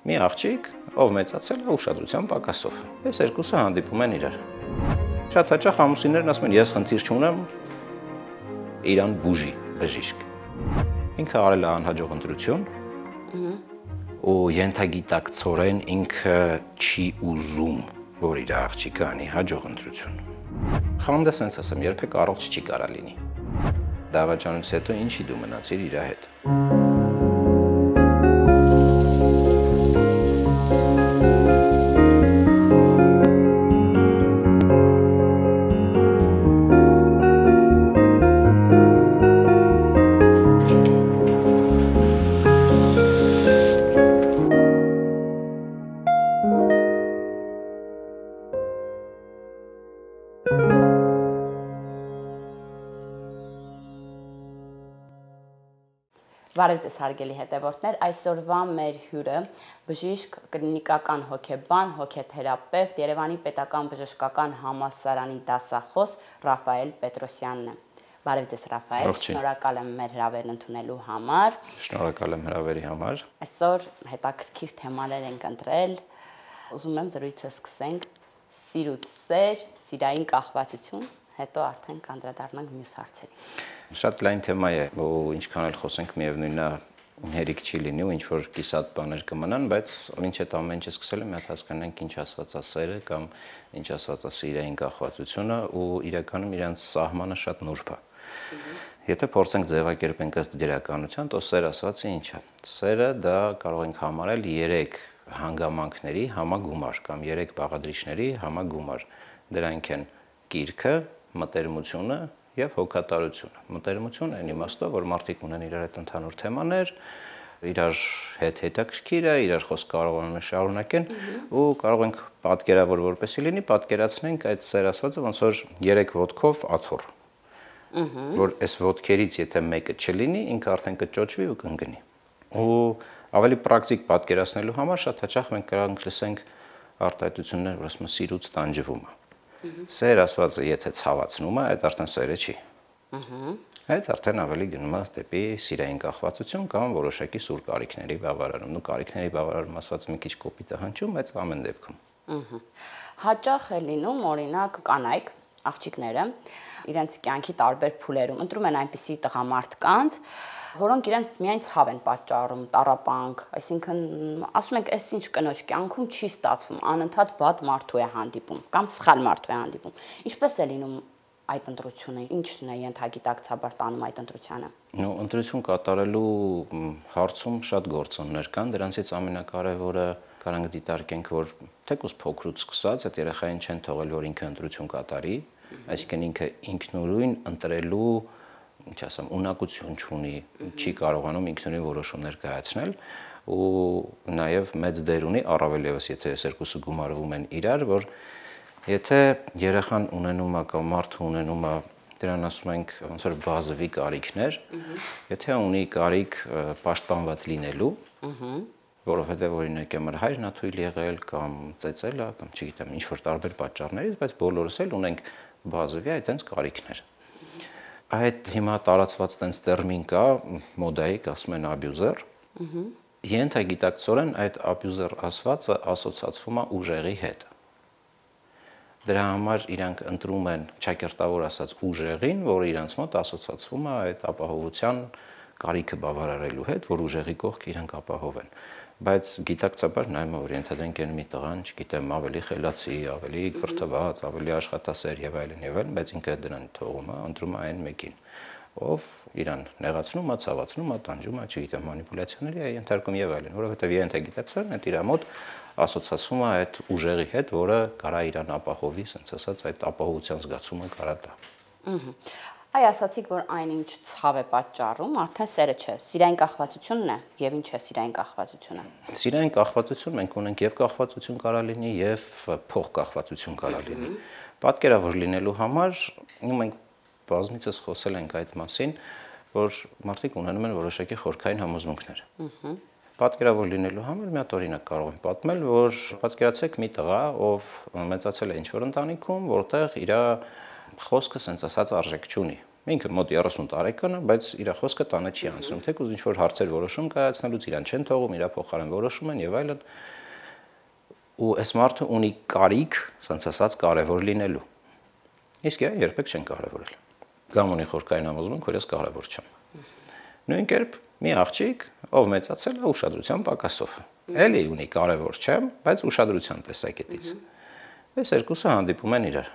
մի աղջիկ, ով մեծացել է ուշադրության պակասով։ Այս երկուսը հանդիպում են իրար։ Շատ հաճախ ամուսիններն ասում են, ես խնդիր չունեմ, իրան բուժի, բժիշկ։ Ինքը արել է անհաջող ընտրություն, ու ենթագիտակցորեն ինքը չի ուզում, որ իր աղջիկը անի հաջող ընտրություն։ Խանդը սենց ասեմ, երբեք առողջ չի կարա լինի։ Դավաճանից հետո ինչի դու մնացիր իր հետ։ Բարև ձեզ հարգելի հետևորդներ, այսօրվա մեր հյուրը բժիշկ, կլինիկական հոգեբան, հոգեթերապևտ, Երևանի պետական բժշկական համալսարանի դասախոս Ռաֆայել Պետրոսյանն է։ Բարև ձեզ Ռաֆայել, շնորհակալ եմ մեր հրավերն ընդունելու համար։ Շնորհակալ եմ հրավերի համար։ Այսօր հետաքրքիր թեմաներ ենք ընտրել։ Ուզում եմ զրույցը սկսենք սիրուց սեր, սիրային կախվածություն, հետո արդեն կանդրադառնանք մյուս հարցերին։ Շատ լայն թեմա է, ու ինչքան էլ խոսենք միևնույնն է հերիք չի լինի ու ինչ որ կիսատ բաներ կմնան, բայց ինչ այդ ամեն ինչը սկսել եմ, հատ հասկանանք ինչ ասված է սերը կամ ինչ ասված է սիրային կախվածությունը ու իրականում իրանց սահմանը շատ նուրբ է։ Եթե փորձենք ձևակերպենք ըստ գրականության, то սեր ասվածը ինչ է։ Սերը դա կարող ենք համարել 3 հանգամանքների համագումար կամ 3 բաղադրիչների համագումար։ Դրանք են կիրքը, մտերմությունը եւ հոգատարությունը։ Մտերմություն այն իմաստով, որ մարդիկ ունեն իրար հետ ընդհանուր թեմաներ, իրար հետ հետաքրքիր է, իրար խոսք կարողանում են շարունակեն ու կարող ենք պատկերավոր որպեսի լինի, պատկերացնենք այդ սեր ասվածը ոնց որ 3 ոտքով աթոռ։ Որ այս ոտքերից եթե մեկը չլինի, ինքը արդեն կճոճվի ու կընկնի։ Ու ավելի պրակտիկ պատկերացնելու համար շատ հաճախ մենք կարող ենք լսենք արտահայտություններ, որ ասում են սիրուց տանջվում է։ Սեր ասվածը եթե ցավացնում է, այդ արդեն սերը չի։ Այդ արդեն ավելի գնում է դեպի սիրային կախվածություն կամ որոշակի սուր կարիքների բավարարում։ Ու կարիքների բավարարում ասված մի քիչ կոպիտ է հնչում, բայց ամեն դեպքում։ Հաճախ է լինում, օրինակ, կանայք, աղջիկները իրենց կյանքի տարբեր փուլերում ընտրում են այնպիսի տղամարդկանց, որոնք իրենց միայն ցավ են պատճառում, տառապանք, այսինքն ասում ենք, այս ինչ կնոջ կյանքում չի ստացվում, անընդհատ վատ մարդու է հանդիպում կամ սխալ մարդու է հանդիպում։ Ինչպես է լինում այդ ընտրությունը, ինչն է ենթագիտակցաբար տանում այդ ընտրությանը։ Նո, ընտրություն կատարելու հարցում շատ գործոններ կան, դրանցից ամենակարևորը կարանք դիտարկենք, որ թեկուզ փոքրուց սկսած այդ երեխային չեն թողել, որ ինքը ընտրություն կատարի, այսինքն ինքը ինքնուրույն ընտրելու ինչ ասեմ, ունակություն չունի, չի կարողանում ինքնուրույն որոշումներ կայացնել ու նաև մեծ դեր ունի առավել եւս եթե այս երկուսը գումարվում են իրար, որ եթե երեխան ունենում է կամ մարդը ունենում է դրան ասում ենք ոնց որ բազովի կարիքներ, եթե ունի կարիք պաշտպանված լինելու, որովհետեւ օրինակ եմր հայրն է թույլ եղել կամ ծեծել է կամ չգիտեմ ինչ որ տարբեր պատճառներից, բայց բոլորս էլ ունենք բազովի այդտենց կարիքներ։ Այդ հիմա տարածված տենց տերմին կա, մոդայիկ ասում են աբյուզեր։ Ենթագիտակցորեն այդ աբյուզեր ասվածը ասոցացվում է ուժեղի հետ։ Դրա համար իրանք ընտրում են ճակերտավոր ասած ուժեղին, որը իրանց մոտ ասոցացվում է այդ ապահովության կարիքը բավարարելու հետ, որ ուժեղի կողք իրանք ապահովեն։ Բայց գիտակցաբար նայում որ ենթադրենք են մի տղան, չգիտեմ, ավելի խելացի, ավելի կրթված, ավելի աշխատասեր եւ այլն, բայց ինքը դրան թողում է, ընտրում է այն մեկին, ով իրան նեղացնում է, ցավացնում է, տանջում է, չգիտեմ, մանիպուլյացիաների է ենթարկում եւ այլն, որովհետեւ ենթագիտակցորեն այդ իր մոտ ասոցացվում է այդ ուժեղի հետ, որը կարա իրան ապահովի, ասենց ասած, այդ ապահովության զգացումը կարա տա։ Այ ասացիք, որ այնինչ ցավ է պատճառում, արդեն սերը չէ, սիրային կախվածությունն է, եւ ինչ է սիրային կախվածությունը։ Սիրային կախվածություն մենք ունենք եւ կախվածություն կարա լինի եւ փոխկախվածություն կարա լինի։ Պատկերավոր լինելու համար մենք բազմիցս խոսել ենք այդ մասին, որ մարդիկ ունենում են որոշակի խորքային համոզմունքներ։ Պատկերավոր լինելու համար մի հատ օրինակ կարող եմ պատմել, որ պատկերացեք մի տղա, ով մեծացել է ինչ-որ ընտանիքում, որտեղ իր խոսքը սենց ասած արժեք չունի։ Ինքը մոտ 30 տարեկան է, բայց իր խոսքը տանը չի անցնում, թեկուզ ինչ որ հարցեր որոշում կայացնելուց իրան չեն թողում, իր փոխարեն որոշում են եւ այլն։ Ու այս մարդը ունի կարիք, ասած ասած, կարևոր լինելու։ Իսկ իրեն երբեք չեն կարևորել։ Կամ ունի խորքային համոզմունք, որ ես կարևոր չեմ։ Նույն կերպ մի աղջիկ, ով մեծացել է ուշադրության պակասով։ Էլի ունի կարևոր չեմ, բայց ուշադրության տեսակետից։ Այս երկուսը հանդիպում են իրար։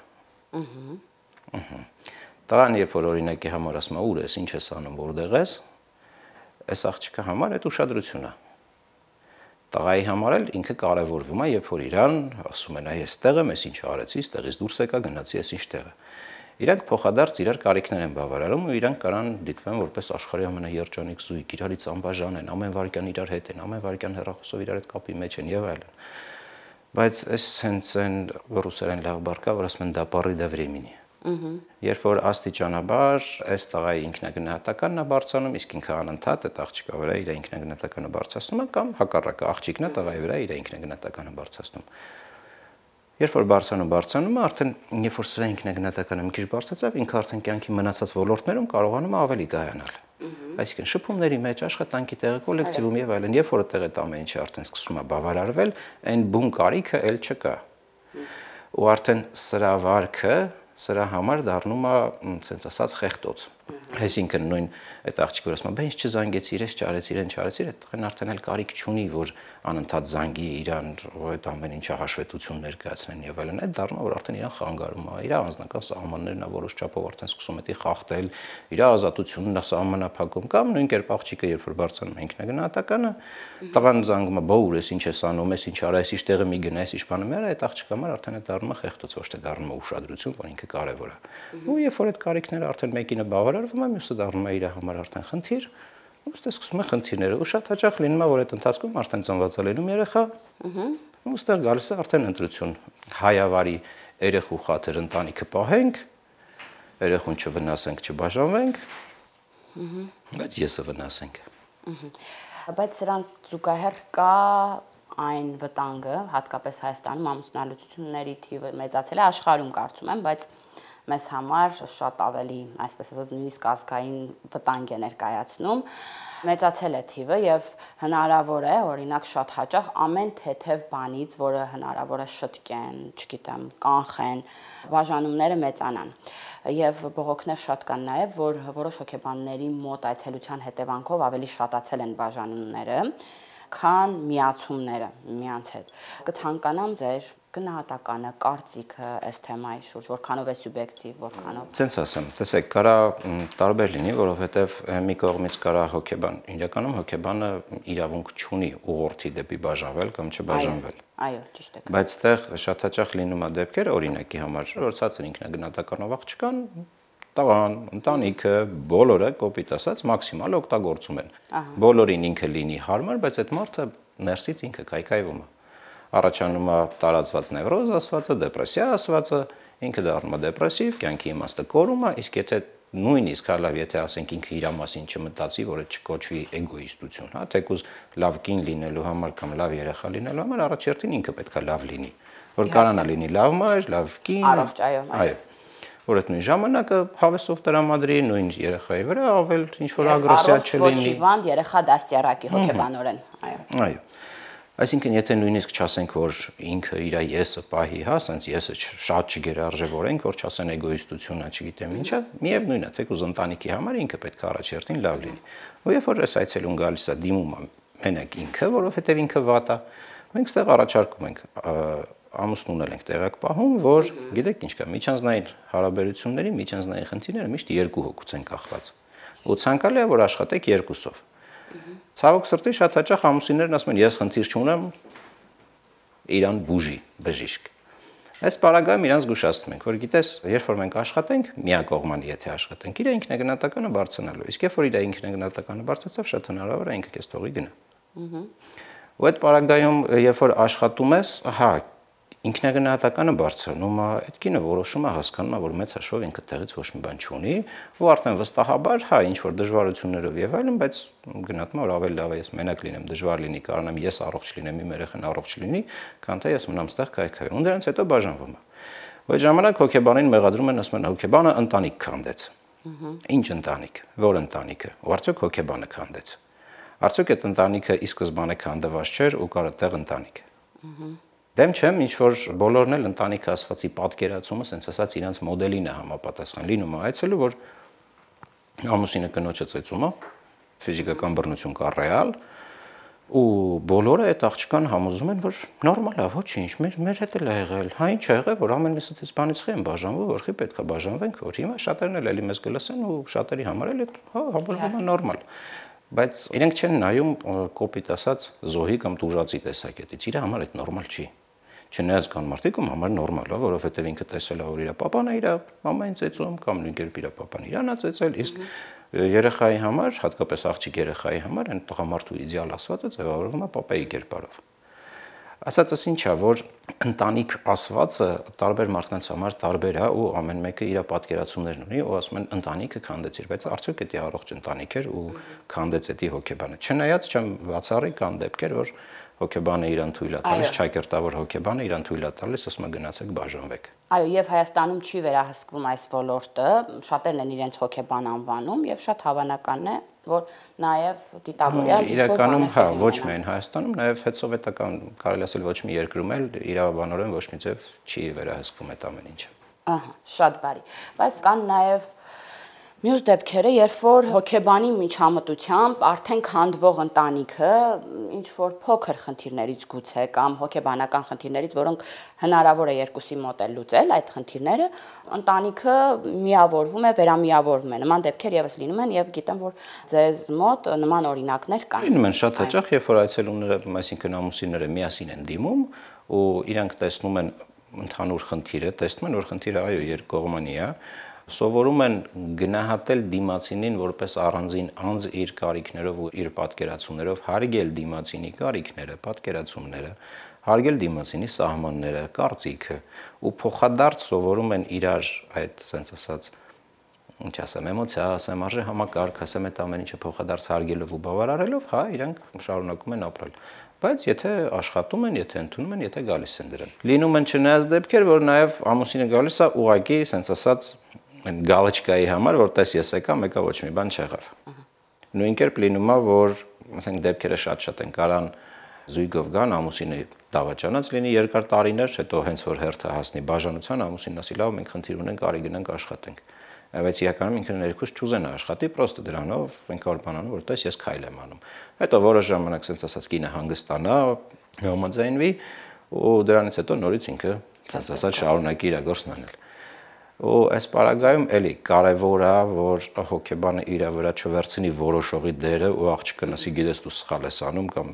Տղան, երբ որ օրինակի համար ասում է ուր ես, ինչ ես անում, որտեղ ես, այս աղջիկի համար այդ ուշադրությունն է։ Տղայի համար էլ ինքը կարևորվում է, երբ որ իրան ասում են, այ այստեղ եմ, ես ինչ արեցի, այստեղից դուրս եկա, գնացի, ես ինչ տեղ է։ Իրանք փոխադարձ իրար կարիքներ են բավարարում ու իրանք կարան դիտվեն որպես աշխարհի ամենաերջանիկ զույգ, իրարից անբաժան են, ամեն վարքյան իրար հետ են, ամեն վարքյան հեռախոսով իրար հետ կապի մեջ են եւ այլն։ Բայց այս հենց այն ռուսերեն լավ բառ կա, որ ասում են դա պարի դա времени։ Երբ որ աստիճանաբար այս տղայի ինքնագնահատականն է բարձրանում, իսկ ինքը անընդհատ այդ աղջիկա վրա իր ինքնագնահատականը բարձրացնում է կամ հակառակը աղջիկն է տղայի վրա իր ինքնագնահատականը բարձրացնում։ Երբ որ բարձրանում է, արդեն երբ որ սրա ինքնագնահատականը մի քիչ բարձրացավ, ինքը արդեն կյանքի մնացած ոլորտներում կարողանում է ավելի կայանալ։ Այսինքն շփումների մեջ, աշխատանքի տեղը, կոլեկտիվում եւ այլն, երբ որ այդտեղ այդ ամեն ինչը արդեն սկսում է բավարարվել, այն բուն կարիքը էլ չկա։ Ու արդեն սրա վարքը սրա համար դառնում է, ասենց ասած, խեղտոց։ Այսինքն նույն այդ աղջիկը որ ասում է, բա ինչ չզանգեցի, իրես չարեցի, իրեն չարեցի, այդ տղեն արդեն էլ կարիք չունի, որ անընդհատ զանգի իրան, այդ ամեն ինչը հաշվետվություն ներկայացնեն եւ այլն, այդ դառնում է, որ արդեն իրան խանգարում է, իր անձնական սահմաններն է որոշ չափով արդեն սկսում է խախտել, իր ազատությունն է սահմանափակում կամ նույն կերպ աղջիկը երբ որ բարձրանում է ինքնագնահատականը, տղան զանգում է, բա ուր ես, ինչ ես անում, ես ինչ արա, ես ինչ տեղը մի գնա, ես ինչ բան եմ, այդ աղջիկը համար արդեն այդ դառնում է խեղտոց, ոչ թե դառնում է ուշադրություն, որ ինքը կարևոր է։ Ու երբ որ այդ կարիքները արդեն մեկինը բավարարվում է, մյուսը դառնում է իր համար արդեն խնդիր, ու ստե սկսում է խնդիրները։ Ու շատ հաճախ լինում է, որ այդ ընթացքում արդեն ծնված է լինում երեխա, ու ստեղ գալիս է արդեն ընտրություն։ Հայավարի երեխու խաթր ընտանիքը պահենք, երեխուն չվնասենք, չբաժանվենք, բայց եսը վնասենք։ Բայց սրան զուգահեռ կա այն վտանգը, հատկապես Հայաստանում ամուսնալուծությունների թիվը մեծացել է, աշխարհում կարծում եմ, բայց մեզ համար շատ ավելի, այսպես ասած, նույնիսկ ազգային վտանգ է ներկայացնում, մեծացել է թիվը եւ հնարավոր է, օրինակ շատ հաճախ ամեն թեթև բանից, որը հնարավոր է շտկեն, չգիտեմ, կանխեն, բաժանումները մեծանան։ Եվ բողոքներ շատ կան նաեւ, որ որոշ հոգեբանների մոտ այցելության հետևանքով ավելի շատացել են բաժանումները, քան միացումները միմյանց հետ։ Կցանկանամ ձեր գնահատականը, կարծիքը այս թեմայի շուրջ, որքանով է սուբյեկտիվ, որքանով։ Ցենց ասեմ, տեսեք, կարա տարբեր լինի, որովհետև մի կողմից կարա հոգեբան, իրականում հոգեբանը իրավունք չունի ուղղորդի դեպի բաժանվել կամ չբաժանվել։ Այո, ճիշտ է։ Բայց այդտեղ շատ հաճախ լինում է դեպքեր, օրինակի համար, որ ցածր ինքնագնահատականով աղջկան տղան, ընտանիքը, բոլորը կոպիտ ասած մաքսիմալ օգտագործում են։ Բոլորին ինքը լինի հարմար, բայց այդ մարդը ներսից ինքը քայքայվում է։ Առաջանում է տարածված նևրոզ ասվածը, դեպրեսիա ասվածը, ինքը դառնում է դեպրեսիվ, կյանքի իմաստը կորում է, իսկ եթե նույնիսկ հալավ, եթե ասենք ինքը իր մասին չմտածի, որ այդ չկոչվի էգոիստություն, հա, թեկուզ լավ կին լինելու համար կամ լավ երեխա լինելու համար առաջերտին ինքը պետք է լավ լինի, որ կարանա լինի լավ մայր, լավ կին, առողջ, այո, որ այդ նույն ժամանակը հավեսով տրամադրի, նույն երեխայի վրա ավել ինչ որ ագրեսիա չլինի։ Հոգեբան երեխա դաստիարակի հոգեբանորեն, այո։ Այո։ Այսինքն, եթե նույնիսկ չասենք, որ ինքը իր եսը պահի, հա, ասենց եսը շատ չգերարժևորենք, որ չասեն էգոիստությունն է, չգիտեմ ինչա, միևնույնն է, թեկուզ ընտանիքի համար ինքը պետք է առաջերտին լավ լինի։ Ու երբ որ այս այցելուն գալիս է դիմում է մենակ ինքը, որովհետև ինքը վատ է, մենք ստեղ առաջարկում ենք ամուսնուն ենք տեղակ պահում, որ գիտեք ինչ կա, միջանձնային հարաբերությունների, միջանձնային խնդիրները միշտ երկու հոգուց են կախված։ Ու ցանկալի է, որ աշխատեք երկուսով։ Ցավոք սրտի շատ հաճախ ամուսիններն ասում են, ես խնդիր չունեմ, իրան բուժի, բժիշկ։ Այս պարագայում իրանց զգուշացնում ենք, որ գիտես, երբ որ մենք աշխատենք, միակողմանի եթե աշխատենք, իր ինքնագնահատականը բարձրանալու։ Իսկ երբ որ իր ինքնագնահատականը բարձրացավ, շատ հնարավոր է ինքը քեզ թողի գնա։ Ու այդ պարագայում, երբ որ աշխատում ես, հա, ինքնագնահատականը բարձրանում է, այդ կինը որոշում է, հասկանում է, որ մեծ հաշվով ինքը տեղից ոչ մի բան չունի, ու արդեն վստահաբար, հա, ինչ որ դժվարություններով եւ այլն, բայց գնահատում է, որ ավելի լավ է ես մենակ լինեմ, դժվար լինի, կարողանամ ես առողջ լինեմ, իմ երեխան առողջ լինի, քան թե ես մնամ ստեղ քայքայում։ Ու դրանից հետո բաժանվում է։ Ու այդ ժամանակ հոգեբանին մեղադրում են, ասում են, հոգեբանը ընտանիք քանդեց։ Ինչ ընտանիք, որ ընտանիքը, ու արդյոք հոգեբանը քանդեց։ Արդյոք այդ ընտանիքը ի սկզբանե քանդված չէր ու կար այդտեղ ընտանիք։ Դեմ չեմ, ինչ որ բոլորն էլ ընտանիքը ասվածի պատկերացումը, ասենց ասած, իրանց մոդելին է համապատասխան լինում, այցելու որ ամուսինը կնոջը ծեծում է, ֆիզիկական բռնություն կա ռեալ, ու բոլորը այդ աղջկան համոզում են, որ նորմալ է, ոչինչ, մեր հետ էլ է եղել, հա ինչ է եղել, որ ամեն միսը դες բանից խի են բաժանվում, որ խի պետք է բաժանվենք, որ հիմա շատերն էլ էլի մեզ կլսեն ու շատերի համար էլ հա համարվում է նորմալ։ Բայց իրենք չեն նայում կոպիտ ասած զոհի կամ տուժածի տեսակետից, իր համար այդ նորմալ չի։ Չնայած կան մարդիկ, ում համար նորմալ է, որովհետև ինքը տեսել է, որ իր պապան է իր մամային ծեծում կամ նույն կերպ իր պապան իրան է ծեծել, իսկ երեխայի համար, հատկապես աղջիկ երեխայի համար, այն տղամարդու իդեալ ասվածը ձևավորվում է պապայի կերպարով։ Ասածս ինչ է, որ ընտանիք ասվածը տարբեր մարդկանց համար տարբեր է ու ամեն մեկը իր պատկերացումներն ունի ու ասում են ընտանիքը քանդեցիր, բայց արդյոք դա առողջ ընտանիք էր ու քանդեց դա հոգեբանը։ Չնայած չեմ բացառի կան դեպքեր, որ հոգեբանը իրան թույլ է տալիս, ճակերտավոր հոգեբանը իրան թույլ է տալիս, ասում է գնացեք բաժանվեք։ Այո, եւ Հայաստանում չի վերահսկվում այս ոլորտը, շատերն են իրենց հոգեբան անվանում եւ շատ հավանական է, որ նաեւ դիտավորյալ իրականում հա, ոչ միայն Հայաստանում, նաեւ հետսովետական, կարելի ասել ոչ մի երկրում էլ իրավաբանորեն ոչ մի ձև չի վերահսկվում այդ ամեն ինչը։ Ահա, շատ բարի։ Բայց կան նաեւ մյուս դեպքերը, երբ որ հոգեբանի միջամտությամբ արդեն քանդվող ընտանիքը ինչ որ փոքր խնդիրներից գուցե կամ հոգեբանական խնդիրներից, որոնք հնարավոր է երկուսի մոտ էլ լուծել այդ խնդիրները, ընտանիքը միավորվում է, վերամիավորվում է։ Նման դեպքեր եւս լինում են եւ գիտեմ, որ ձեզ մոտ նման օրինակներ կան։ Լինում են շատ հաճախ, երբ որ այցելուները, այսինքն ամուսինները միասին են դիմում ու իրանք տեսնում են ընդհանուր խնդիրը, տեսնում են, որ խնդիրը այո երկկողմանի է, սովորում են գնահատել դիմացինին որպես առանձին անձ իր կարիքներով ու իր պատկերացումներով, հարգել դիմացինի կարիքները, պատկերացումները, հարգել դիմացինի սահմանները, կարծիքը ու փոխադարձ սովորում են իրար այդ sense ասած ինչ ասեմ, էմոցիա, ասեմ, արժե համակարգ, ասեմ այդ ամեն ինչը փոխադարձ հարգելով ու բավարարելով, հա, իրանք շարունակում են ապրել։ Բայց եթե աշխատում են, եթե ընդունում են, եթե գալիս են դրան։ Լինում են չնայած դեպքեր, որ նաև ամուսինը գալիս է ուղակի, sense ասած գալչկայի համար, որ տես ես եկա, մեկը ոչ մի բան չեղավ։ Նույն կերպ լինում է, որ ասենք դեպքերը շատ են կարան զույգով գան, ամուսինը դավաճանած լինի երկար տարիներ, հետո հենց որ հերթը հասնի բաժանության, ամուսինն ասի լավ, մենք խնդիր ունենք, արի գնանք աշխատենք։ Բայց իրականում ինքն ներքուս չուզենա աշխատի, պրոստը դրանով ինքն բանանում, որ տես ես քայլ եմ անում։ Հետո որոշ ժամանակ sense ասած կինը հանգստանա, համաձայնվի ու դրանից հետո նորից ինքը sense ասած շարունակի իր գործն անել։ Ու այս պարագայում էլի կարևոր է, որ հոգեբանը իր վրա չվերցնի որոշողի դերը ու աղջիկը ասի գիտես դու սխալ ես անում կամ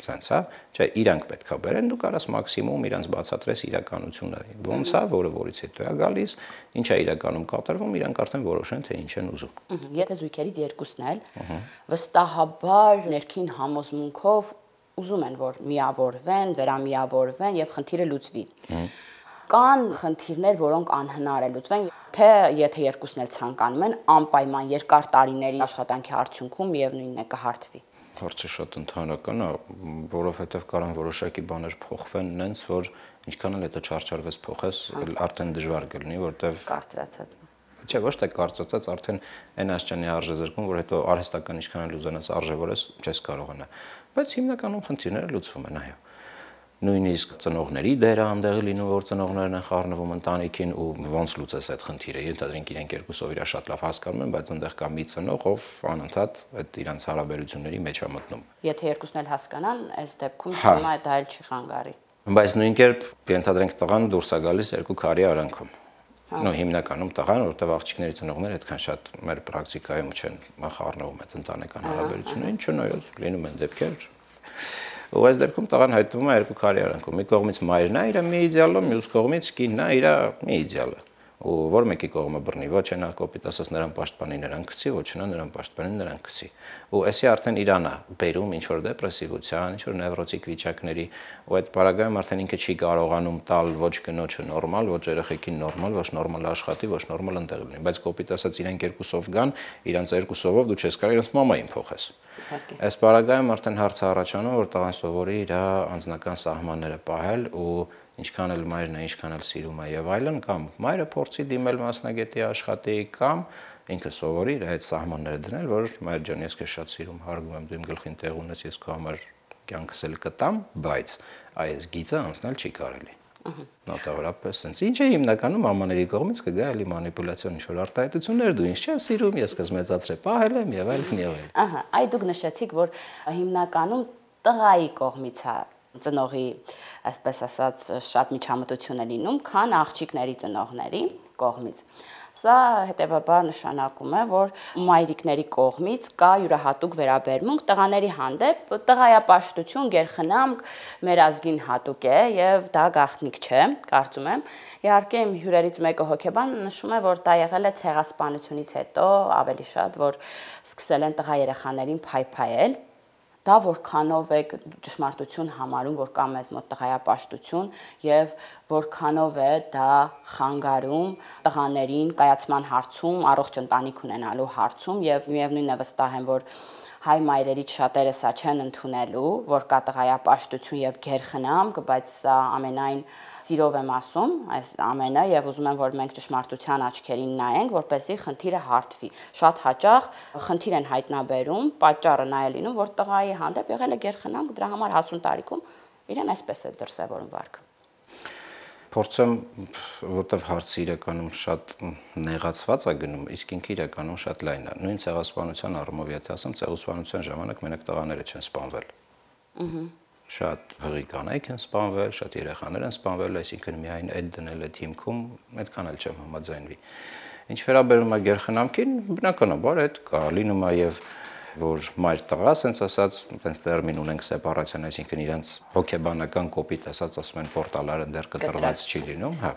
sense, հա, չէ, իրանք պետքա բերեն, դու կարաս մաքսիմում իրանց բացատրես իրականությունը։ Ոնց է, որը որից հետո է գալիս, ինչ է իրականում կատարվում, իրանք արդեն որոշեն թե ինչ են ուզում։ Եթե զույգերից երկուսն էլ վստահաբար ներքին համոզմունքով ուզում են, որ միավորվեն, վերամիավորվեն եւ խնդիրը լուծվի։ Կան խնդիրներ, որոնք անհնար է լուծվեն, թե եթե երկուսն էլ ցանկանում են, անպայման երկար տարիների աշխատանքի արդյունքում միևնույնն է կհարթվի։ Հարցը շատ ընդհանրական է, որովհետև կարան որոշակի բաներ փոխվեն նենց, որ ինչքան էլ հետո չարչարվես փոխես, արդեն դժվար կլինի, որտեվ կարծրացած։ Չէ, ոչ թե կարծրացած, արդեն այն աշճանի արժե զրկում, որ հետո արհեստական ինչքան էլ ուզենաս արժևորես, չես կարողանա։ Բայց հիմնականում խնդիրները լուծվում են, այո։ Նույնիսկ ծնողների դերը անդեղի լինում, որ ծնողներն են խառնվում ընտանիքին ու ոնց լուծես այդ խնդիրը։ Ենթադրենք իրենք երկուսով իրար շատ լավ հասկանում են, բայց այնտեղ կա մի ծնող, ով անընդհատ այդ իրանց հարաբերությունների մեջ է մտնում։ Եթե երկուսն էլ հասկանան, այս դեպքում հիմա դա էլ չի խանգարի։ Բայց նույն կերպ ենթադրենք տղան դուրս է գալիս երկու քարի արանքում։ Նո հիմնականում տղան, որտեղ աղջիկների ծնողները այդքան շատ մեր պրակտիկայում չեն խառնվում այդ ընտանեկան հարաբերություններին, չնայած լինում են դեպքեր ու այս դեպքում տղան հայտնվում է երկու քարի արանքում։ Մի կողմից մայրն է իր մի իդեալը, մյուս կողմից կինն է իր մի իդեալը։ Ու որ մեկի կողմը բռնի, ոչ նա կոպիտ ասած նրան պաշտպանի, նրան գցի, ոչ նա նրան պաշտպանի, նրան գցի։ Ու էսի արդեն իրան է բերում ինչ որ դեպրեսիվության, ինչ որ նևրոտիկ վիճակների, ու այդ պարագայում արդեն ինքը չի կարողանում տալ ոչ կնոջը նորմալ, ոչ երեխեքին նորմալ, ոչ նորմալ աշխատի, ոչ նորմալ ընտեղ լինի, բայց կոպիտ ասած իրենք երկուսով գան, իրանց երկուսովով դու չես կարող իրանց մամային փոխես։ Այս պարագայում արդեն հարցը առաջանում, որ տղան սովորի իր անձնական սահմանները պահել ու ինչքան էլ մայրն է, ինչքան էլ սիրում է եւ այլն, կամ մայրը փորձի դիմել մասնագետի աշխատի, կամ ինքը սովորի իր այդ սահմանները դնել, որ մայր ջան, ես քեզ շատ սիրում, հարգում եմ, դու իմ գլխին տեղ ունես, ես քո համար կյանքս էլ կտամ, բայց այս գիծը անցնել չի կարելի։ Նոտավորապես sense ինչ է հիմնականում մամաների կողմից կգա էլի մանիպուլյացիոն ինչ-որ արտահայտություններ, դու ինձ չես սիրում, ես քեզ մեծացրել պահել եմ եւ այլն եւ այլն։ Ահա, այ դուք նշեցիք, որ հիմնականում տղայի կողմից է ծնողի, այսպես ասած, շատ միջամտություն է լինում, քան աղջիկների ծնողների կողմից։ Սա հետևաբար նշանակում է, որ մայրիկների կողմից կա յուրահատուկ վերաբերմունք տղաների հանդեպ, տղայապաշտություն, գերխնամք մեր ազգին հատուկ է եւ դա գաղտնիք չէ, կարծում եմ։ Իհարկե իմ հյուրերից մեկը հոգեբան նշում է, որ դա եղել է ցեղասպանությունից հետո ավելի շատ, որ սկսել են տղա երեխաներին փայփայել։ Դա որքանով է ճշմարտություն համարում, որ կա մեզ մոտ տղայապաշտություն եւ որքանով է դա խանգարում տղաներին կայացման հարցում, առողջ ընտանիք ունենալու հարցում եւ միևնույնն է վստահ եմ, որ հայ մայրերից շատերը սա չեն ընդունելու, որ կա տղայապաշտություն եւ գերխնամք, բայց սա ամենայն սիրով եմ ասում այս ամենը եւ ուզում եմ որ մենք ճշմարտության աչքերին նայենք, որպեսզի խնդիրը հարթվի։ Շատ հաճախ խնդիր են հայտնաբերում, պատճառը նա է լինում, որ տղայի հանդեպ եղել է գերխնամք, դրա համար հասուն տարիքում իրեն այսպես է դրսևորում վարքը։ Փորձեմ, որտեվ հարցը իրականում շատ նեղացված է գնում, իսկ ինքը իրականում շատ լայն է։ Նույն ցեղասպանության առումով եթե ասեմ, ցեղասպանության ժամանակ մենակ տղաները չեն սպանվել։ Շատ հղի կանայք են սպանվել, շատ երեխաներ են սպանվել, այսինքն միայն այդ դնել այդ հիմքում, այդքան էլ չեմ համաձայնվի։ Ինչ վերաբերում է գերխնամքին, բնականաբար այդ կա, լինում է եւ որ մայր տղա, ասենց ասած, այդպես տերմին ունենք սեպարացիան, այսինքն իրենց հոգեբանական կոպիտ ասած ասում են պորտալարը դեռ կտրված չի լինում, հա։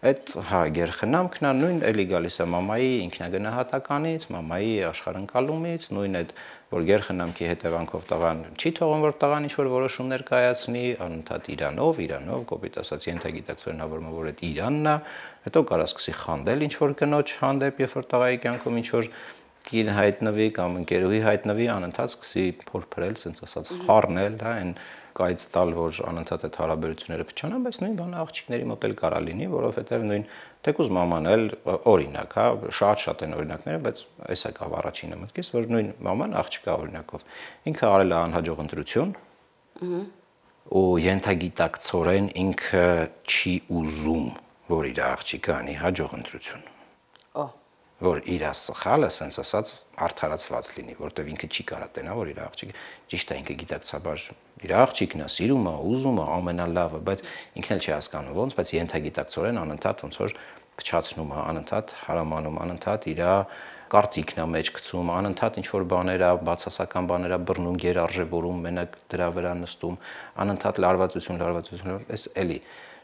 Այդ հա գերխնամքն է նույն էլի գալիս է մամայի ինքնագնահատականից, մամայի աշխարհընկալումից, նույն այդ որ գերխնամքի հետևանքով տղան չի թողում որ տղան ինչ որ որոշումներ կայացնի, անընդհատ իրանով կոպիտ ասած ենթագիտակցորեն հավորում որ այդ Իրանն է, հետո կարա սկսի խանդել ինչ որ կնոջ հանդեպ, երբ որ տղայի կյանքում ինչ որ կին հայտնվի կամ ընկերուհի հայտնվի, անընդհատ սկսի փորփրել, ասենց ասած խառնել, հա, այն կայծ տալ, որ անընդհատ այդ հարաբերությունները փչանան, բայց նույն բանը աղջիկների մոտ էլ կարա լինի, որովհետև նույն թեկուզ մաման էլ օրինակ, հա, շատ են օրինակները, բայց այս է կավ առաջինը մտքից, որ նույն մաման աղջիկա օրինակով ինքը արել է անհաջող ընտրություն, ու ենթագիտակցորեն ինքը չի ուզում, որ իր աղջիկը անի հաջող ընտրություն։ Որ իր սխալը, ասենց ասած, արդարացված լինի, որտեվ ինքը չի կարա տենա, որ իր աղջիկը ճիշտ է, ինքը գիտակցաբար իր աղջիկն է, սիրում է, ուզում է, ամենալավը, բայց ինքն էլ չի հասկանում ոնց, բայց ենթագիտակցորեն անընդհատ ոնց որ փչացնում է, անընդհատ հարամանում, անընդհատ իր կարծիքն է մեջ գցում, անընդհատ ինչ որ բաներ է, բացասական բաներ է բռնում, գերարժևորում, մենակ դրա վրա նստում, անընդհատ լարվածություն, այս էլի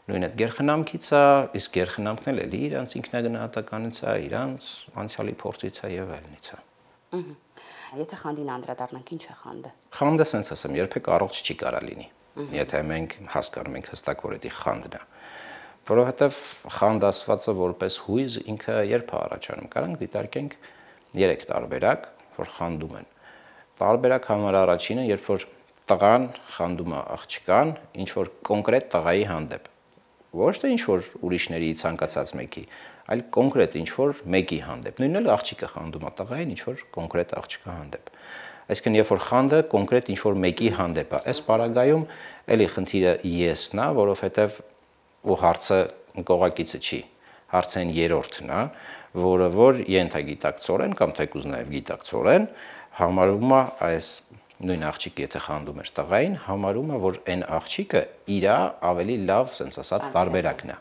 նույն այդ գերխնամքից է, իսկ գերխնամքն էլ էլի իրանց ինքնագնահատականից է, իրանց անցյալի փորձից է եւ այլնից է։ Եթե խանդին անդրադառնանք, ինչ է խանդը։ Խանդը sense ասեմ, երբեք առողջ չի կարա լինի։ Եթե մենք հասկանում ենք հստակ որ դա խանդն է։ Որովհետեւ խանդ ասվածը որպես հույզ ինքը երբ է առաջանում։ Կարանք դիտարկենք 3 տարբերակ, որ խանդում են։ Տարբերակ համար առաջինը, երբ որ տղան խանդում է աղջկան, ինչ որ կոնկրետ տղայի հանդեպ։ Ոչ թե ինչ որ ուրիշների ցանկացած մեկի, այլ կոնկրետ ինչ որ մեկի հանդեպ։ Նույնն էլ աղջիկը խանդում է տղային ինչ որ կոնկրետ աղջկա հանդեպ։ Այսինքն երբ որ խանդը կոնկրետ ինչ որ մեկի հանդեպ է, այս պարագայում էլի խնդիրը եսն է, որովհետև ու հարցը կողակիցը չի։ Հարցը այն երրորդն է, որը որ ենթագիտակցորեն կամ թեկուզ նաև գիտակցորեն համարում է այս նույն աղջիկը եթե խանդում էր տղային, համարում է, որ այն աղջիկը իրա ավելի լավ, ասենց ասած, տարբերակն է։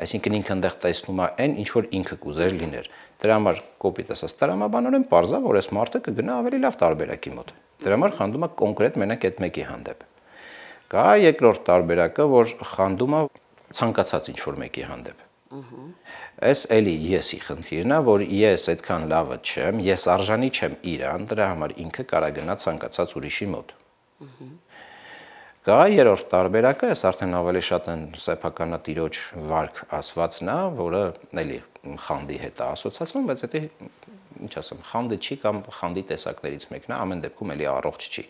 Այսինքն ինքը այնտեղ տեսնում է այն, ինչ որ ինքը կուզեր լիներ։ Դրա համար կոպիտ ասած, տրամաբանորեն պարզ է, որ այս մարդը կգնա ավելի լավ տարբերակի մոտ։ Դրա համար խանդում է կոնկրետ մենակ այդ մեկի հանդեպ։ Կա երկրորդ տարբերակը, որ խանդում է ցանկացած ինչ որ մեկի հանդեպ։ Այս էլի եսի խնդիրն է, որ ես այդքան լավը չեմ, ես արժանի չեմ իրան, դրա համար ինքը կարա գնա ցանկացած ուրիշի մոտ։ Կա երրորդ տարբերակը, այս արդեն ավելի շատ են սեփականատիրոջ վարք ասվածն է, որը էլի խանդի հետ է ասոցացվում, բայց դա ինչ ասեմ, խանդը չի կամ խանդի տեսակներից մեկն է, ամեն դեպքում էլի առողջ չի։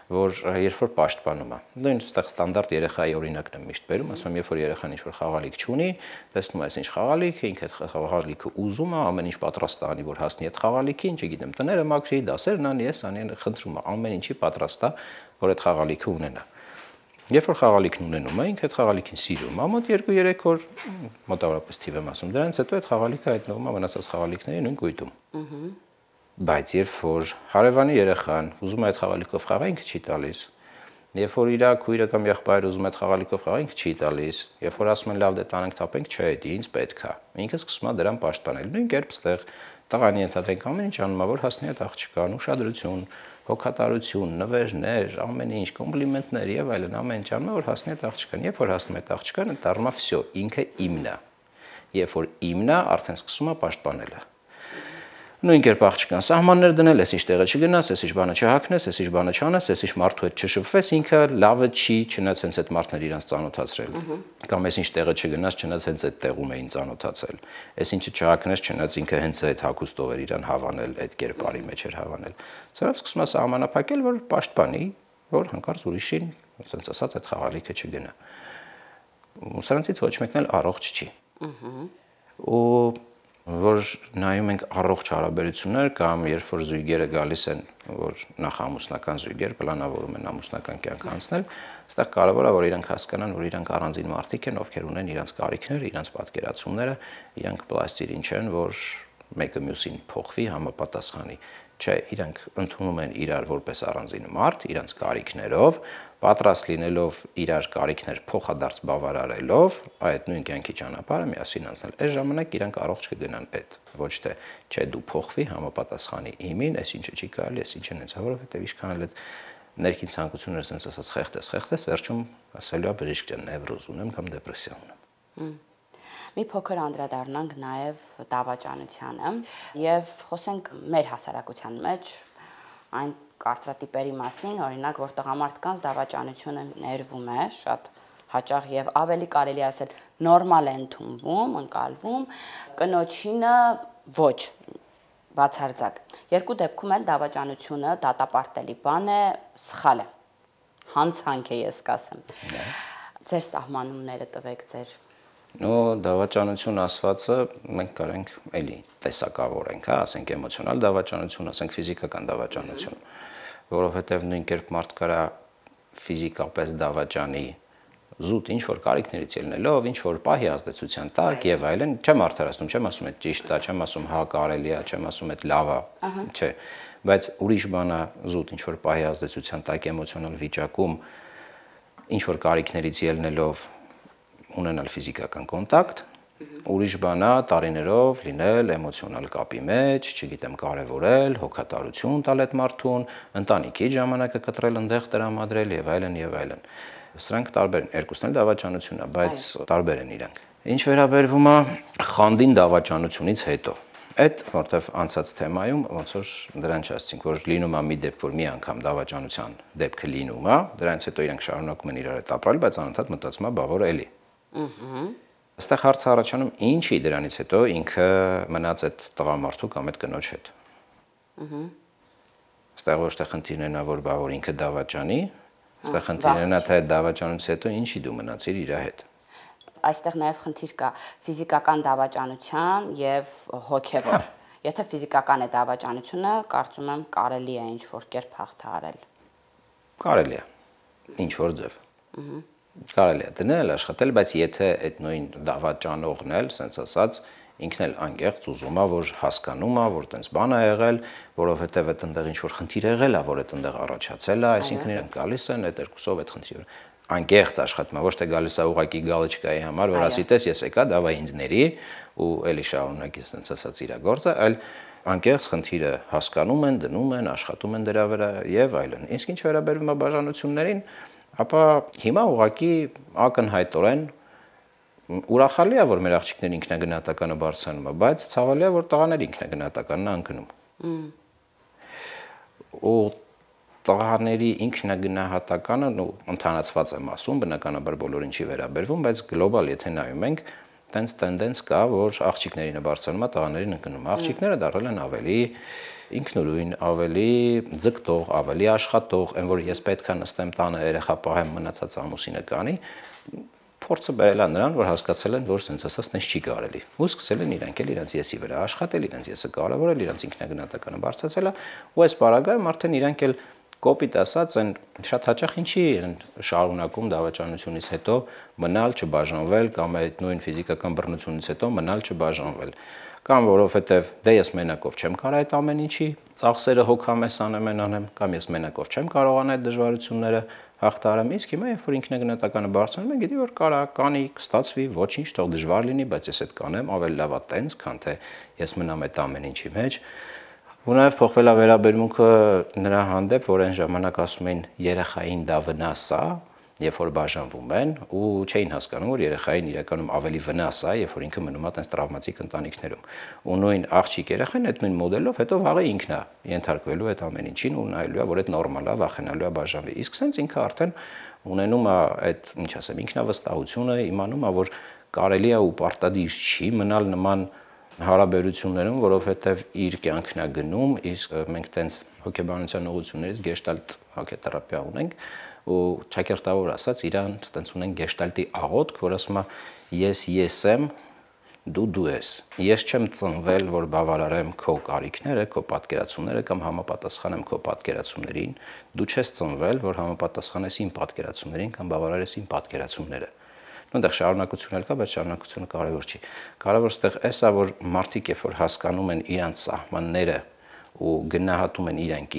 որ երբ որ պաշտպանում է։ Նույն այստեղ ստանդարտ երեխայի օրինակն եմ միշտ բերում, ասում եմ, երբ որ երեխան ինչ-որ խաղալիք չունի, տեսնում ես ինչ խաղալիք է, ինքը այդ խաղալիքը ուզում է, ամեն ինչ պատրաստ է անի, որ հասնի այդ խաղալիքին, չգիտեմ, տները մաքրի, դասերն անի, ես անի, խնդրում է, ամեն ինչի պատրաստ է, որ այդ խաղալիքը ունենա։ Երբ որ խաղալիքն ունենում է, ինքը այդ խաղալիքին սիրում է, մոտ 2-3 օր, մոտավորապես թիվ եմ ասում, դրանից հետո այդ խաղալիքը հայտնվում է մնացած խաղալիքների նույն կույտում։ Բայց երբ որ հարևանի երեխան ուզում է այդ խաղալիքով խաղալ, ինքը չի տալիս։ Երբ որ իր քույրը կամ եղբայրը ուզում է այդ խաղալիքով խաղալ, ինքը չի տալիս։ Երբ որ ասում են լավ դե տանենք թափենք, չէ, դի ինձ պետք է։ Ինքը սկսում է դրան պաշտպանել։ Նույն կերպ ստեղ տղան ենթադրենք ամեն ինչ անում է, որ հասնի այդ աղջկան, ուշադրություն, հոգատարություն, նվերներ, ամեն ինչ, կոմպլիմենտներ եւ այլն, ամեն ինչ անում է, որ հասնի այդ աղջկան։ Երբ որ հասնում է այդ աղջկանը, դառնում է վсё, ինքը իմն է։ Երբ որ իմն է, արդեն սկսում է պաշտպանելը։ Նույն կերպ աղջկան սահմաններ դնել, ես ինչ տեղը չգնաս, ես ինչ բանը չհագնես, ես ինչ բանը չանես, ես ինչ մարդու հետ չշփվես, ինքը լավը չի, չնայած հենց այդ մարդները իրանց ծանոթացրել։ Կամ ես ինչ տեղը չգնաս, չնայած հենց այդ տեղում էին ծանոթացել։ Ես ինչը չհագնես, չնայած ինքը հենց այդ հագուստով էր իրան հավանել, այդ կերպարի մեջ էր հավանել։ Սրանով սկսում է սահմանափակել, որ պաշտպանի, որ հանկարծ ուրիշին, ասենց ասած, այդ խաղալիքը չգնա։ Սրանցից ոչ մեկն էլ առողջ չի։ Ու որ նայում ենք առողջ հարաբերություններ կամ երբ որ զույգերը գալիս են, որ նախ ամուսնական զույգեր պլանավորում են ամուսնական կյանք անցնել, այստեղ կարևոր է որ իրանք հասկանան, որ իրանք առանձին մարդիկ են, ովքեր ունեն իրանք կարիքները, իրանք պատկերացումները, իրանք պլաստիրին չեն, որ մեկը մյուսին փոխվի, համապատասխանի։ Չէ, իրանք ընդունում են իրար որպես առանձին մարդ, իրանք կարիքներով, պատրաստ լինելով իրար կարիքներ փոխադարձ բավարարելով, այդ նույն կյանքի ճանապարհը միասին անցնել։ Այս ժամանակ իրանք առողջ կգնան այդ, ոչ թե չէ դու փոխվի, համապատասխանի իմին, այս ինչը չի կարելի, այս ինչն է, որովհետև ինչքան էլ այդ ներքին ցանկությունները sense ասած խեղտես, վերջում ասելու է բժիշկ ջան, նևրոզ ունեմ կամ դեպրեսիա ունեմ։ Մի փոքր անդրադառնանք նաև դավաճանությանը եւ խոսենք մեր հասարակության մեջ այն կարծրատիպերի մասին, օրինակ, որ տղամարդկանց դավաճանությունը ներվում է շատ հաճախ եւ ավելի կարելի ասել նորմալ է ընդունվում, ընկալվում, կնոջինը ոչ բացարձակ։ Երկու դեպքում էլ դավաճանությունը դատապարտելի բան է, սխալ է։ Հանցանք է, ես կասեմ։ Ձեր սահմանումները տվեք ձեր դավաճանություն ասվածը մենք կարենք էլի տեսակավորենք, հա, ասենք էմոցիոնալ դավաճանություն, ասենք ֆիզիկական դավաճանություն, որովհետև նույն կերպ մարդ կարա ֆիզիկապես դավաճանի զուտ ինչ որ կարիքներից ելնելով, ինչ որ պահի ազդեցության տակ եւ այլն, չեմ արդարացնում, չեմ ասում այդ ճիշտ է, չեմ ասում հա կարելի է, չեմ ասում այդ լավ է, չէ, բայց ուրիշ բան է զուտ ինչ որ պահի ազդեցության տակ էմոցիոնալ վիճակում ինչ որ կարիքներից ելնելով ունենալ ֆիզիկական կոնտակտ, ուրիշ բան է տարիներով լինել էմոցիոնալ կապի մեջ, չգիտեմ, կարևորել, հոգատարություն տալ այդ մարդուն, ընտանիքի ժամանակը կտրել, այնտեղ տրամադրել եւ այլն եւ այլն։ Սրանք տարբեր են, երկուսն էլ դավաճանություն է, բայց տարբեր են իրանք։ Ինչ վերաբերվում է խանդին դավաճանությունից հետո, այդ որտեվ անցած թեմայում ոնց որ դրան չասեցինք, որ լինում է մի դեպք, որ մի անգամ դավաճանության դեպքը լինում է, դրանից հետո իրենք շարունակում են իրար հետ ապրել, բայց անընդհատ մտածում է բա որ էլի։ Այստեղ հարցը առաջանում ինչի դրանից հետո ինքը մնաց այդ տղամարդու կամ այդ կնոջ հետ։ Այստեղ ոչ թե խնդիրն է որ բա որ ինքը դավաճանի, այստեղ խնդիրն է թե դավաճանությունից հետո ինչի դու մնացիր իր հետ։ Այստեղ նաև խնդիր կա ֆիզիկական դավաճանության եւ հոգեվոր։ Եթե ֆիզիկական է դավաճանությունը, կարծում եմ կարելի է ինչ որ կերպ հաղթահարել։ Կարելի է։ Ինչ որ ձև։ Կարելի է դնել, աշխատել, բայց եթե այդ նույն դավաճանողն էլ, ասենց ասած, ինքն էլ անկեղծ ուզում է, որ հասկանում է, որ տենց բան է եղել, որովհետև այդ այնտեղ ինչ որ խնդիր եղել է, որ այդ այնտեղ առաջացել է, այսինքն իրենք գալիս են այդ երկուսով այդ խնդիրը անկեղծ աշխատում է, ոչ թե գալիս է ուղակի գալիչկայի համար, որ ասի տես ես եկա, դավա ինձ ների ու էլի շարունակի ասենց ասած իր գործը, այլ անկեղծ խնդիրը հասկանում են, դնում են, աշխատում են դրա վրա եւ այլն։ Իսկ ինչ վերաբերվում է բաժանություններին, ապա հիմա ուղղակի ակնհայտորեն ուրախալի է, որ մեր աղջիկների ինքնագնահատականը բարձրանում է, բայց ցավալի է, որ տղաների ինքնագնահատականն է անկնում։ Ու տղաների ինքնագնահատականը, ընդհանրացված եմ ասում, բնականաբար բոլորին չի վերաբերվում, բայց գլոբալ եթե նայում ենք, տենց տենդենս կա, որ աղջիկներին է բարձրանում, տղաներին ընկնում։ Աղջիկները դառել են ավելի ինքնուրույն, ավելի ձգտող, ավելի աշխատող, այն որ ես պետք է նստեմ տանը երեխա պահեմ, մնացած ամուսինը կանի, փորձը բերել է նրան, որ հասկացել են, որ sense ասած տենց չի կարելի։ Ու սկսել են իրանք էլ իրենց եսի վրա աշխատել, իրենց եսը կարևորել, իրենց ինքնագնահատականը բարձրացել է, ու այս պարագայում արդեն իրանք էլ կոպիտ ասած են շատ հաճախ ինչի են շարունակում դավաճանությունից հետո մնալ չբաժանվել կամ այդ նույն ֆիզիկական բռնությունից հետո մնալ չբաժանվել կամ որովհետև դե ես մենակով չեմ կարող այդ ամեն ինչի ծախսերը հոգամես անեմ կամ ես մենակով չեմ կարողանա այդ դժվարությունները հաղթարեմ իսկ հիմա երբ որ ինքնագնահատականը բարձրանում է գիտի որ կարա կանի կստացվի ոչինչ թող դժվար լինի բայց ես այդ կանեմ ավելի լավ է տենց քան թե ես մնամ այդ ամեն ինչի մեջ ու նաև փոխվել է վերաբերմունքը նրա հանդեպ, որ այն ժամանակ ասում էին երեխային դա վնաս է, երբ որ բաժանվում են, ու չէին հասկանում, որ երեխային իրականում ավելի վնաս է, երբ որ ինքը մնում է տես տրավմատիկ ընտանիքներում։ Ու նույն աղջիկ երեխան այդ նույն մոդելով հետո վաղը ինքն է ենթարկվելու այդ ամեն ինչին ու նայելու է, որ այդ նորմալ է, վախենալու է բաժանվի։ Իսկ սենց ինքը արդեն ունենում է այդ, ինչ ասեմ, ինքնավստահությունը, իմանում է, որ կարելի է ու պարտադիր չի մնալ նման հարաբերություններում, որովհետև իր կյանքն է գնում, իսկ մենք տենց հոգեբանության ուղղություններից գեշտալտ հոգեթերապիա ունենք ու ճակերտավոր ասած իրան տենց ունենք գեշտալտի աղոթք, որ ասում է ես եմ, դու ես։ Ես չեմ ծնվել, որ բավարարեմ քո կարիքները, քո պատկերացումները կամ համապատասխանեմ քո պատկերացումներին, դու չես ծնվել, որ համապատասխանես իմ պատկերացումներին կամ բավարարես իմ պատկերացումները։ Այնտեղ շարունակություն էլ կա, բայց շարունակությունը կարևոր չի։ Կարևոր ստեղ էսա, որ մարդիկ երբ որ հասկանում են իրանց սահմանները ու գնահատում են իրանք,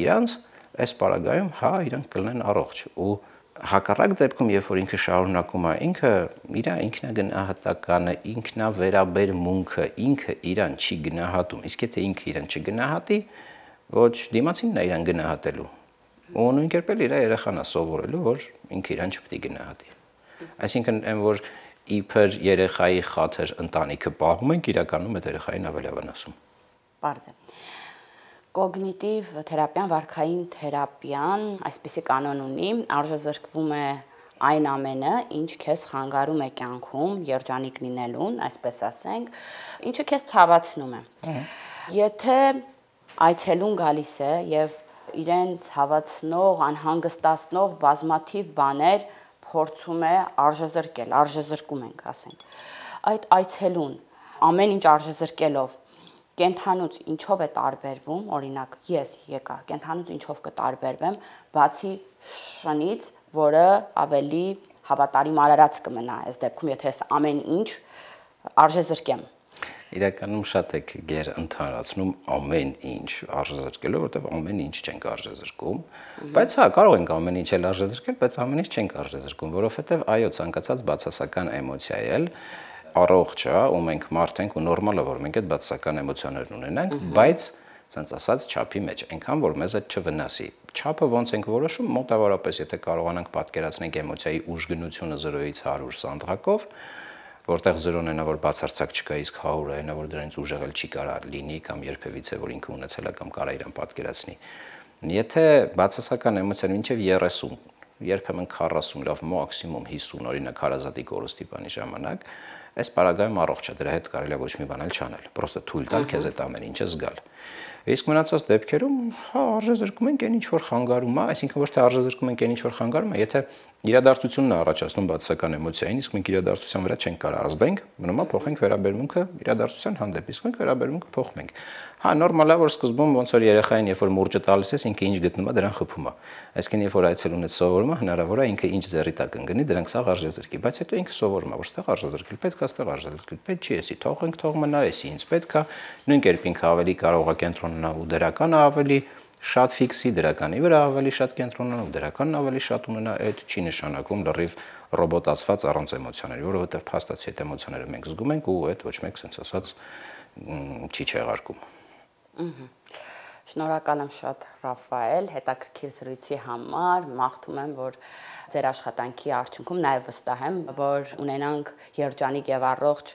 այս պարագայում հա իրանք կլինեն առողջ ու հակառակ դեպքում երբ որ ինքը շարունակում է ինքը իր ինքնագնահատականը, ինքնավերաբերմունքը, ինքը իրան չի գնահատում։ Իսկ եթե ինքը իրան չգնահատի, ոչ դիմացինն է իրան գնահատելու։ Ու նույն կերպ էլ իր երեխան է սովորելու, որ ինքը իրան չպետք է գնահատի։ Այսինքն այն որ իբր երեխայի խաթր ընտանիքը պահում ենք, իրականում այդ երեխային ավելի վնասում։ Պարզ է։ Կոգնիտիվ թերապիան, վարքային թերապիան այսպիսի կանոն ունի, արժեզրկվում է այն ամենը, ինչ քեզ խանգարում է կյանքում երջանիկ լինելուն, այսպես ասենք, ինչը քեզ ցավացնում է։ Եթե այցելուն գալիս է եւ իրեն ցավացնող, անհանգստացնող բազմաթիվ բաներ փորձում է արժեզրկում ենք, ասենք։ Այդ այցելուն ամեն ինչ արժեզրկելով կենթանուց ինչով է տարբերվում, օրինակ ես եկա, կենթանուց ինչով կտարբերվեմ, բացի շնից, որը ավելի հավատարիմ արարած կմնա, այս դեպքում եթե ես ամեն ինչ արժեզրկեմ։ Իրականում շատ եք գեր ընդհանրացնում ամեն ինչ արժեզրկելով, որտեղ ամեն ինչ չենք արժեզրկում, բայց հա կարող ենք ամեն ինչ էլ արժեզրկել, բայց ամեն ինչ չենք արժեզրկում, որովհետև այո, ցանկացած բացասական էմոցիա էլ առողջ է, ու մենք մարդ ենք ու նորմալ է, որ մենք այդ բացասական էմոցիաներն ունենանք, բայց ասենց ասած չափի մեջ, այնքան որ մեզ այդ չվնասի։ Չափը ոնց ենք որոշում, մոտավորապես եթե կարողանանք պատկերացնել էմոցիայի ուժգնությունը 0-ից 100 սանդղակով, որտեղ 0-ն այնա որ բացարձակ չկա, իսկ 100-ը այնա որ դրանից ուժեղել չի կարող լինի կամ երբևիցե որ ինքը ունեցել է կամ կարա իրան պատկերացնի։ Եթե բացասական էմոցիան մինչև 30, երբեմն 40, լավ մաքսիմում 50 օրինակ հարազատի կորստի բանի ժամանակ, այս պարագայում առողջ է, դրա հետ կարելի է ոչ մի բան էլ չանել, պրոստը թույլ տալ քեզ այդ ամեն ինչը զգալ։ Իսկ մնացած դեպքերում հա արժեզրկում ենք այն ինչ որ խանգարում է, այսինքն ոչ թե արժեզրկում ենք այն ինչ որ խանգարում է, եթե իրադարձությունն է առաջացնում բացասական էմոցիային, իսկ մենք իրադարձության վրա չենք կարող ազդենք, մնում է փոխենք վերաբերմունքը իրադարձության հանդեպ, իսկ մենք վերաբերմունքը փոխում ենք։ Հա նորմալ է որ սկզբում ոնց որ երեխային երբ որ մուրճը տալիս ես, ինքը ինչ գտնում է, դրան խփում է։ Այսինքն երբ որ այցելունից սովորում է, հնարավոր է ինքը ինչ ձեռի տակ ընկնի, դրանք սա արժեզրկի, բայց հետո ինքը սովորում է, որ ստեղ արժեզրկել պետք է, ստեղ արժեզրկել պետք չի, էսի թողենք, թող մնա, էսի ինձ պետք է, նույն կերպ ինքը ավելի կարող է կենտրոնանալ ու դրականը ավելի շատ ֆիքսի, դրականի վրա ավելի շատ կենտրոնանալ ու դրականն ավելի շատ ունենա, այդ չի նշանակում լրիվ ռոբոտացված առանց էմոցիաների, որովհետև փաստացի այդ էմոցիաները մենք զգում ենք ու այդ ոչ մեկ sense ասած չի չեղարկում։ Շնորհակալ եմ շատ Ռաֆայել, հետաքրքիր զրույցի համար, մաղթում եմ, որ ձեր աշխատանքի արդյունքում նաև վստահ եմ, որ ունենանք երջանիկ եւ առողջ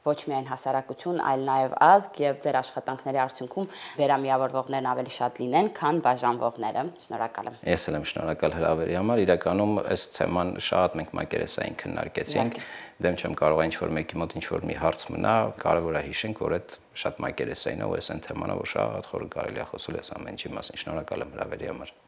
ոչ միայն հասարակություն, այլ նաև ազգ եւ ձեր աշխատանքների արդյունքում վերամիավորվողներն ավելի շատ լինեն, քան բաժանվողները։ Շնորհակալ եմ։ Ես էլ եմ շնորհակալ հրավերի համար։ Իրականում այս թեման շատ մենք մակերեսային քննարկեցինք։ Դեմ չեմ կարող ինչ-որ մեկի մոտ ինչ-որ մի հարց մնա, կարևոր է հիշենք, որ այդ շատ մակերեսային է ու այս այն թեմանա, որ շատ խոր կարելի է խոսել այս ամեն ինչի մասին։ Շնորհակալ եմ հրավերի համար։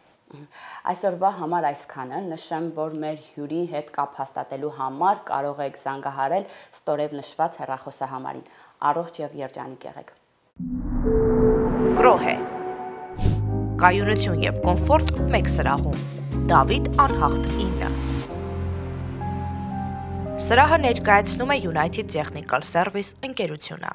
Այսօրվա համար այսքանը, նշեմ, որ մեր հյուրի հետ կապ հաստատելու համար կարող եք զանգահարել ստորև նշված հեռախոսահամարին։ Առողջ եւ երջանիկ եղեք։ Գրոհե։ Կայունություն եւ կոմֆորտ մեկ սրահում։ Դավիթ Անհախտ 9։ Սրահը ներկայացնում է United Technical Service ընկերությունը։